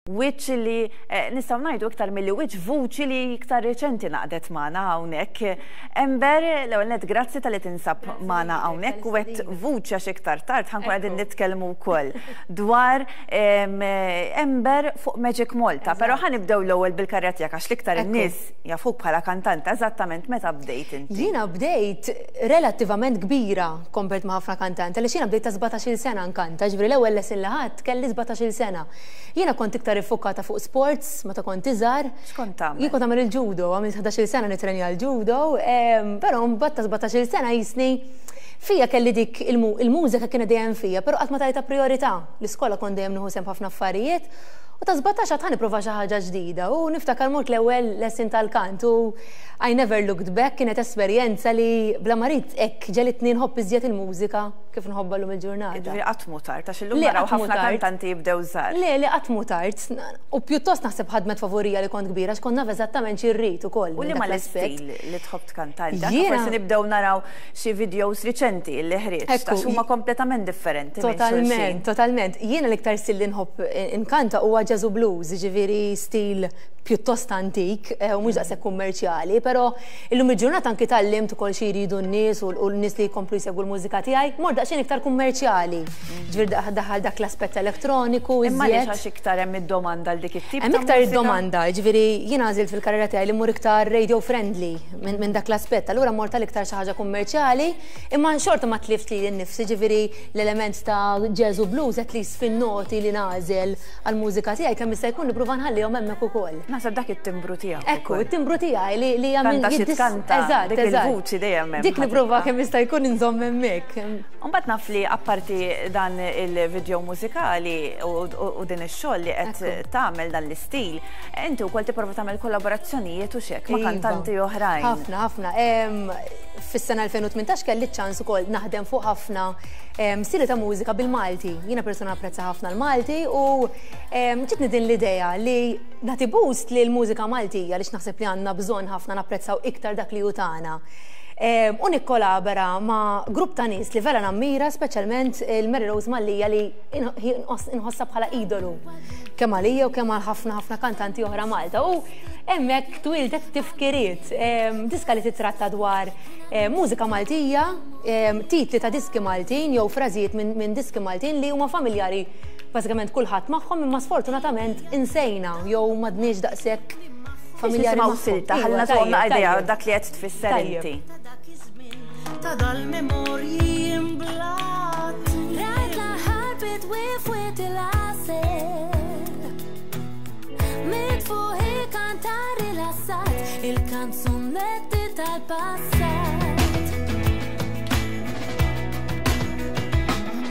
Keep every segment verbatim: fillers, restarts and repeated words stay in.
Wiċċ li eh, nistgħu ngħidu iktar milli wiċċ, vuċi li iktar reċenti ngħaqdet magħna hawnhekk. Amber, l-ewwel nett grazzi talli tinsab magħna hawnhekk u għedt vuċi għax iktar tard ħa nkunu qegħdin nitkellmu wkoll dwar Amber fuq Magic Malta, però ħa nibdew l-ewwel bil-karriera tiegħek għax l-iktar in-nies jafuk bħala kantanta. Eżattament meta bdejt inti? Jiena bdejt relattivament kbira compared ma' ħafna kantanti, għaliex jiena bdejt ta' sbatax-il sena nkanta, ġifieri l-ewwel lesson li ħadt kelli sbatax-il sena. Jiena kont iktar iffukata fuq sports meta kont iżgħar. X'kont tagħmel? Jien kont nagħmel il-judo, għamilt ħdax-il sena nitrenja l-judo, però mbagħad ta' sbatax-il sena jisni fija kelli dik il-mużika kienet dejjem fija, però qatt ma tajta priorità. L-iskola kont dejjem nieħu sehem ħafna affarijiet. U ta' sbatax għedt ħa nipprova xi ħaġa ġdida u niftakar mort l-ewwel lesson tal-kant u I never looked back, kienet esperjenza li bla ma ridt hekk ġegħlitni nħobb iżjed il-mużika kif nħobbha llum il-ġurnata. Ġifieri qatt mhu tard, għax illum naraw ħafna kantanti jibdew żgħar. Le, le, qatt mhu tard. U pjuttost naħseb ħadmet favorija li kont kbira għax kont naf eżattament xi rrid ukoll. U liema l-istil li tħobb tkanta inti? Forsi nibdew naraw xi videos riċenti li ħriġt, għax huma kompletament differenti. Totalment, totalment. Jiena l-iktar stil li nħobb inkanta huwa jazz u blues, ġifieri stil pjuttost antik u mhux daqshekk kummerċjali, però illum il-ġurnata anki tgħallimt ukoll xi jridu n-nies u n-nies li jkomplu jsegwu l-mużika tiegħi, mort daqsxejn iktar kummerċjali. Ġifieri daħal dak l-aspett elettroniku. Imma għaliex, għax iktar hemm id-domanda għal dik it-tip? Hemm iktar id-domanda, ġifieri jiena għażilt fil-karriera tiegħi li mmur iktar radio friendly minn dak l-aspett, allura mort għal iktar xi ħaġa kummerċjali, imma xorta ma tlift li nnifsi, ġifieri l-element ta' jazz u blues at least fin-noti li nagħżel għall-mużika tiegħi kemm jista' jkun nipprova nħallihom hemmhekk ukoll. Naħseb dak it-timbru tiegħek. Ekku, it-timbru tiegħi li li jagħmel xi tkanta. Eżatt, dik il-vuċi dejjem hemm. Dik nipprova kemm jista' jkun inżomm hemmhekk. Mbagħad naf li apparti dan il-video mużikali u din ix-xogħol li qed tagħmel dan l-istil, inti wkoll tipprova tagħmel kollaborazzjonijiet u xek ma' Iva. kantanti oħrajn. Ħafna, ħafna. Fis-sena elfejn u tmintax kelli ċans ukoll naħdem fuq ħafna stili ta' mużika bil-Malti. Jiena persona apprezza ħafna l-Malti u ġitni din l-idea li nagħti boost li l-mużika Maltija għaliex naħseb li għandna bżonn ħafna napprezzaw iktar dak li hu tagħna. U nikkolabora ma' grupp ta' nies li vera nammira, speċjalment il-Mary Rose Mallia li inħossa bħala idolu. Kemm għalija u kemm għal ħafna ħafna kantanti oħra Malta. U hemmhekk twildet Tifkiriet, diska li titratta dwar mużika Maltija, titli ta' diski Maltin jew frażijiet minn diski Maltin li huma familjari bażikament kulħadd magħhom imma sfortunatament insejna jew m'għadniex daqshekk familjari magħhom. Silta, ħalli nagħtuhom idea dak li qed tfisser inti. Ta' dal-memorji imblat. Rajt l-aħħar bidwi f'Wied il-Għasel. Mitfuħ kanta rilassat il-kanzunetti tal-passat.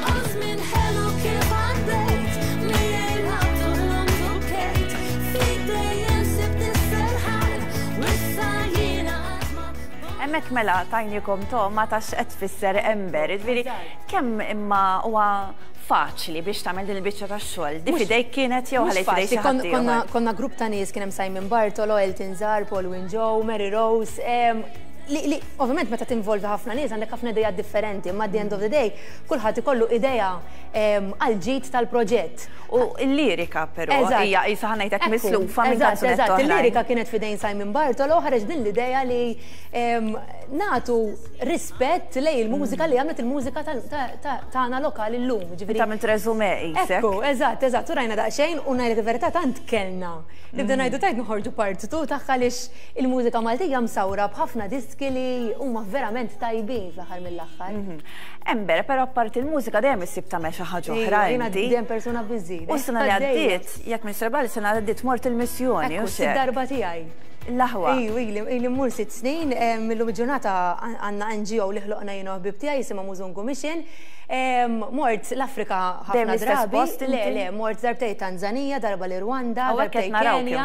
U żmien ħelu kif għaddejt, miegħi lgħabt u ħlomt u bkejt, fik dejjem sibt is-serħan, u issa jiena qatt ma Hemmhekk mela tajnikom togħma ta' x'qed tfisser Amber, ġifieri kemm imma huwa faċli biex tagħmel din il-biċċa tax-xogħol? Di fidejk kienet jew ħalejt fidejk xi ħadd ieħor? Konna grupp ta' nies, kien hemm Simon Bartolo, Elton Zarb, Paul Joe, Mary Rose, li, li ovvjament meta tinvolvi ħafna nies għandek ħafna idea differenti, imma at the end of the day kulħadd ikollu idea għal ġid tal-proġett. U l-lirika però hija qisha ħa ngħidlek mislufa minn kanzunetta. Eżatt, il-lirika kienet fidejn Simon Bartolo, ħareġ din l-idea li nagħtu rispett lejn il-mużika li għamlet il-mużika tagħna lokali llum. Ġifieri tagħmel resume qisek. Ekku, eżatt, eżatt, u rajna daqsxejn u ngħidlek il-verità tant kellna. Nibda ngħidu tajt noħorġu part two tagħha għaliex il-mużika Maltija msawra b'ħafna diski li huma verament tajbin fl-aħħar mill-aħħar. Mhm. Amber, però apparti il-mużika dejjem issib tagħmel xi ħaġa oħra inti. Dejjem persuna busy. U s-sena li għaddiet, jekk minn serbali sena li għaddiet mort il-missjoni. U darba tiegħi. L-aħwa. Iju, ili mmur sitt snin, millum ġurnata għandna N G O li ħloqna jiena ħbib tiegħi jisimha Muzungu Mission. Mort l-Afrika ħafna drabi. Le, le, mort darbtejn Tanzania, darba l-Rwanda, darbtejn Kenja.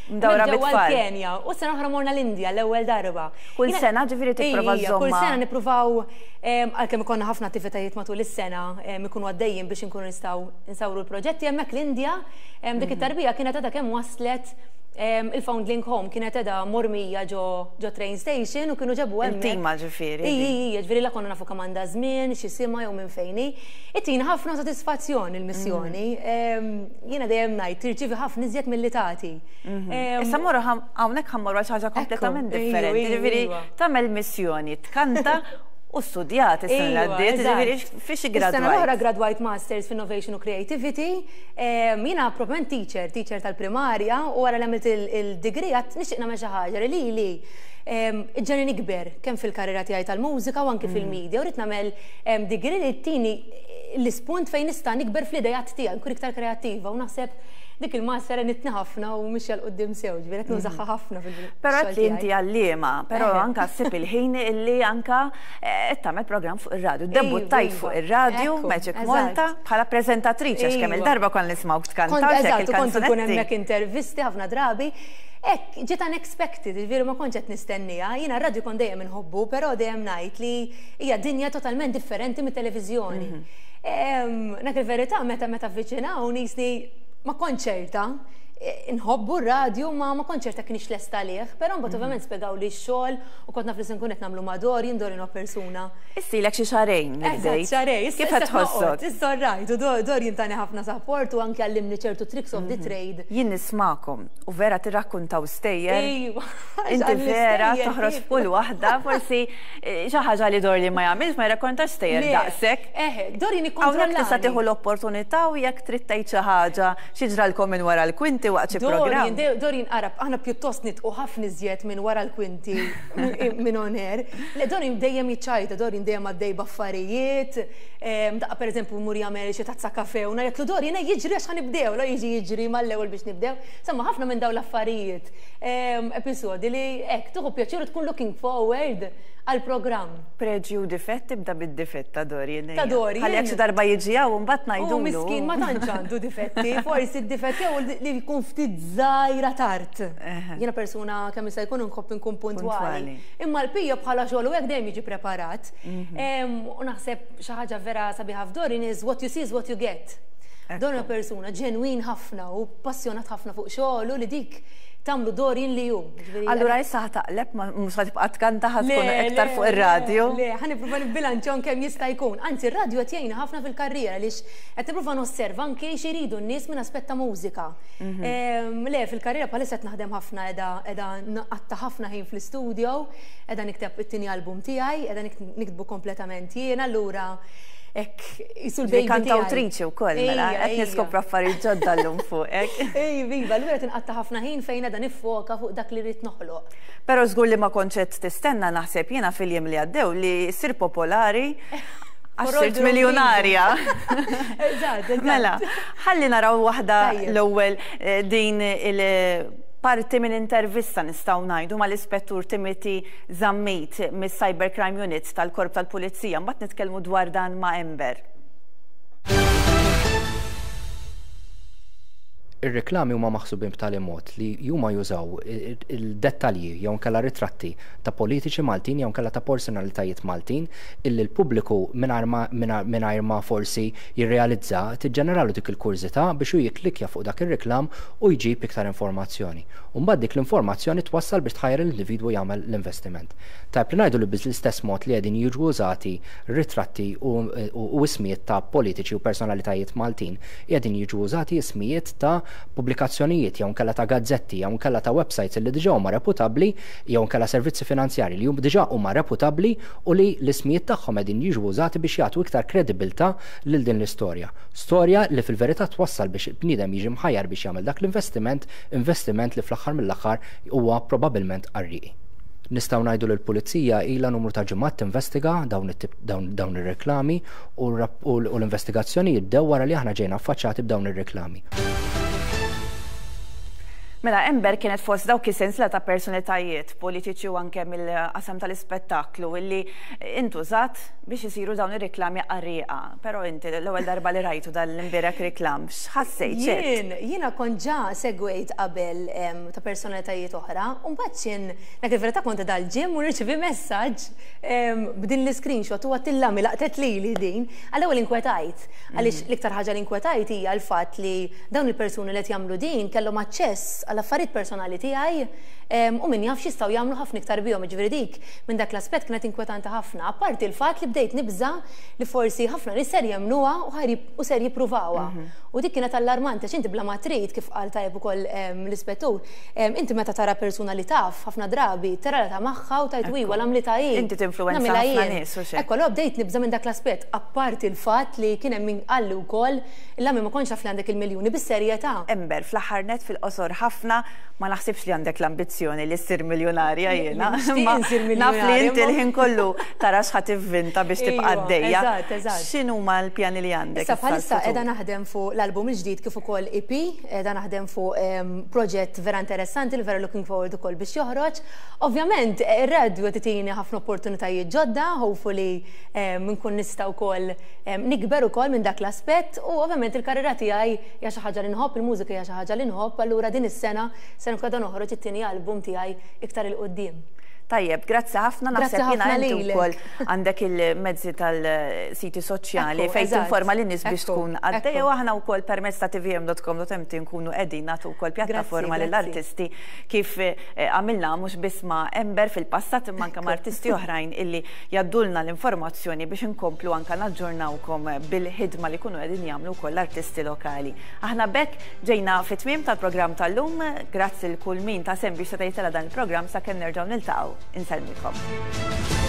Mdawra bit-tfal. Kenja. U sena oħra morna l-Indja l-ewwel darba. Kull sena ġifieri tipprova żżomm. Kull sena nippruvaw, għalkemm ikollna ħafna attivitajiet matul is-sena ikunu għaddejjin biex inkunu nistgħu nsawru l-proġetti hemmhekk l-Indja, dik it-tarbija kienet għadha kemm waslet. Il-Foundling Home kienet edha mormija ġo ġo train station u kienu ġabu hemmhekk. Intima ġifieri. Iji, iji, ġifieri la konna nafu kemm għandha żmien, x'jisimha jew minn fejn hi. Ittina ħafna sodisfazzjon il-missjoni. Jiena dejjem ngħid tirċievi ħafna iżjed milli tagħti. Issa morru hawnhekk ħa mmorru għal xi ħaġa kompletament differenti. Ġifieri tagħmel missjoni, tkanta u studjat is-sena li għaddiet, ġifieri fiex Is-sena l-oħra gradwajt Masters f'Innovation u Creativity. Jiena proprjament teacher, teacher tal-primarja, u wara li għamilt il-degree għedt nixtieq nagħmel xi ħaġa li li ġġegħelni nikber kemm fil-karriera tiegħi tal-mużika u anki fil-media, u rrid nagħmel degree li ttini l-ispunt fejn nista' nikber fl-idejat tiegħi, nkun iktar kreattiva, u naħseb dik il-master għenitni ħafna u mixja 'l quddiem sew, ġifieri qed nużaha ħafna fil Però qed li inti għalliema, però anka ssib il-ħin illi anka qed tagħmel programm fuq ir-radju. Debuttajt fuq ir-radju Magic Malta bħala preżentatriċi, għax kemm il-darba kont nismgħuk tkanta. Eżatt, kont ikun hemmhekk intervisti ħafna drabi. Ek, ġiet unexpected, ġifieri ma kontx qed nistennija. Jiena r-radju kont dejjem inħobbu, però dejjem ngħid li hija dinja totalment differenti mit-televiżjoni. Dak il-verità meta meta avviċinaw nisni ma konċerta, nħobbu r-radju ma ma konċerta kienx lesta liħ, però mbagħad ovvjament spjegaw li x-xogħol u kont naf li se nkun qed nagħmlu ma' Dorian, Dorian huwa persuna. Issilek xi xahrejn. Eżatt, xahrejn. Kif qed tħossok? Issa rajt, u Dorian tani ħafna support u anke għallimni ċertu tricks of the trade. Jien nismakom u vera tirrakkuntaw stejjer. Ejwa. Inti vera toħroġ f'kull waħda, forsi xi ħaġa li Dorian ma jagħmilx, ma jirrakkontax stejjer daqshekk. Eħe, Dorian ikkontrollani. Hawnhekk tista' tieħu l-opportunità u jekk trid tgħid xi ħaġa xi ġralkom minn wara l-kwinti waqt xi programm. Dorian qarab, aħna pjuttost nidħku ħafna iżjed minn wara l-kwinti minn on air. Le, Dorian dejjem jiċċajta, Dorian dejjem għaddej b'affarijiet, daqqa pereżempju mur jagħmel xi tazza kafe u ngħidlu Dorian jiġri għax ħa nibdew, la jiġi jiġri mal-ewwel biex nibdew. Samma ħafna minn dawn l-affarijiet, episodi li hekk tieħu pjaċir tkun looking forward għal-programm. Preġju u difett, tibda bid-difett ta' Dorian. Ta' Dorian. Ħalli jekk xi darba jiġi hawn mbagħad ngħidulu. U miskin ma tantx għandu difetti, forsi d-difett jew li jkun ftit żgħira tard. Jiena persuna kemm jista' jkun nħobb inkun puntwali. Imma l-pija bħala xogħol u hekk dejjem jiġi preparat. U naħseb xi ħaġa vera sabiħa f'Dorian is what you see is what you get. Dorian persuna ġenwin ħafna u passjonat ħafna fuq xogħlu li dik tagħmlu Dorian li hu. Allura issa ħa taqleb, mhux ħa tibqa' tkanta, ħa tkun iktar fuq ir-radju. Le, ħa nipprova nibbilanċjaw kemm jista' jkun. Anzi, ir-radju qed jgħinna ħafna fil-karriera għaliex qed nipprova nosserva anke x'iridu n-nies minn aspett ta' mużika. Le, fil-karriera bħalissa qed naħdem ħafna, qiegħda qiegħda nqatta' ħafna ħin fl-istudio, qiegħda nikteb it-tieni album tiegħi, qiegħda niktbu kompletament jiena, allura hekk jisu l-baby. Kantawtriċi wkoll, mela, qed niskopru affarijiet ġodda llum fuqek. Ej, viva, allura tinqatta' ħafna ħin fejn qiegħda niffoka fuq dak li rrid noħloq. Però żgur li ma kontx qed tistenna, naħseb jiena, fil-jiem li għaddew li ssir popolari għax sirt miljonarja. Eżatt, Mela, ħalli naraw waħda l-ewwel din il- parti minn intervista nistgħu ngħidu mal-Ispettur Timothy Zammit mis-Cybercrime Unit tal-Korp tal-Pulizija, mbagħad nitkellmu dwar dan ma' Amber. Ir-reklami huma maħsubin b'tali mod li huma jużaw il-dettalji jew inkella ritratti ta' politiċi Maltin jew inkella ta' personalitajiet Maltin illi l-pubbliku mingħajr ma forsi jirrealizza tiġġeneralu dik il-kurżità biex hu jikklikja fuq dak ir-reklam u jġib iktar informazzjoni. U mbagħad dik l-informazzjoni twassal biex tħajjar l-individwu jagħmel l-investiment. Tajb li ngħidu li bl-istess mod li qegħdin jiġu użati ritratti u ismijiet ta' politiċi u personalitajiet Maltin, qegħdin jiġu użati ismijiet ta' pubblikazzjonijiet jew inkella ta' gazzetti jew inkella ta' websites li diġà huma reputabbli jew inkella servizzi finanzjari li diġà huma reputabbli u li l-ismijiet tagħhom qegħdin jiġu użati biex jagħtu iktar kredibilità lil din l-istorja. Storja li fil-verità twassal biex il-bniedem jiġi mħajjar biex jagħmel dak l-investiment, investiment li fl-aħħar mill-aħħar huwa probabbilment qarrieqi. Nistgħu ngħidu li l-pulizija ilha numru ta' ġimgħat tinvestiga dawn it-tip, dawn, dawn ir-reklami u r-rap-, u l-investigazzjoni jibdew wara li aħna ġejna affaċċati b'dawn ir-reklami. Mela, Amber kienet fost dawk is-sensiela ta' personalitajiet politiċi u anke mill-qasam tal-ispettaklu illi intużat biex isiru dawn ir-reklami qarrieqa. Però inti l-ewwel darba li rajtu dal-imbierek reklam, x'ħassejt? Jien, jiena kont ġa segwejt qabel, em, ta' personalitajiet oħra, u mbagħad x'in, dak il-verità kont dal-ġim u nirċievi messaġġ, em, b'din l-screenshot u għattillami laqtet lili din. Għall-ewwel inkwetajt, għaliex Mhm. l-iktar ħaġa li inkwetajt hija l-fatt li dawn il-persuni li qed jagħmlu din kellhom aċċess għall-affarijiet personali tiegħi u min jaf x'jistgħu jagħmlu ħafna iktar bihom, ġifieri dik minn dak l-aspett kienet inkwetanti ħafna. Apparti il-fatt li bdejt nibża li forsi ħafna nies ser jemnuha u ser jippruvawha. Mhm. U dik kienet allarmanti għax inti bla ma trid, kif qal tajjeb ukoll l-ispettur, inti meta tara persuna li taf ħafna drabi tara ta' magħha u tgħid iwa l-għamli ta' Inti tinfluwenza ħafna nies u xejn. Ekku, allura bdejt nibża minn dak l-aspett, apparti il-fatt li kien hemm min qalli wkoll il-għammi ma kontx naf li għandek il-miljuni bis-serjetà. Ember, fl-aħħar net, fil-qosor ħafna, ma naħsibx li għandek l-ambizzjoni li ssir miljonarja jiena. Naf li inti l-ħin kollu tara x'ħa tivvinta biex tibqa' għaddejja. Eżatt, eżatt. X'inhuma l-pjani li għandek? Issa bħalissa qiegħda naħdem fuq l-album il-ġdid kif ukoll E P, qiegħda naħdem fuq proġett vera interessanti li vera looking forward ukoll biex joħroġ. Ovvjament, ir-radio titini ħafna opportunitajiet ġodda, hopefully nkun nista' wkoll nikber ukoll minn dak l-aspett u ovvjament il-karriera tiegħi hija xi ħaġa li nħobb, il-mużika hija xi ħaġa li nħobb, allura din is-sena se nkun qiegħda noħroġ it-tieni album tiegħi iktar 'il quddiem. Tajjeb, grazzi ħafna, Grazzi naħseb jiena ħafna inti lilek. wkoll għandek il-mezzi tal-siti soċjali Ekku, fejn eżatt. tinforma lin-nies biex Ekku, tkun għaddejja ekku. u aħna wkoll permezz ta' T V M dot com dot M T nkunu qegħdin nagħtu wkoll pjattaforma Grazzi, lill-artisti kif eh, għamilna mhux biss ma' Ember fil-passat imma anke ma' artisti oħrajn illi jgħaddulna l-informazzjoni biex inkomplu anke naġġornawkom bil-ħidma li jkunu qegħdin jagħmlu wkoll l-artisti lokali. Aħna b'hekk ġejna fit-tmiem tal-programm tal-lum, grazzi lil kull min ta sehem biex seta' jitela' dan il-programm. Sakemm nerġgħu niltaqgħu, insellmilkom.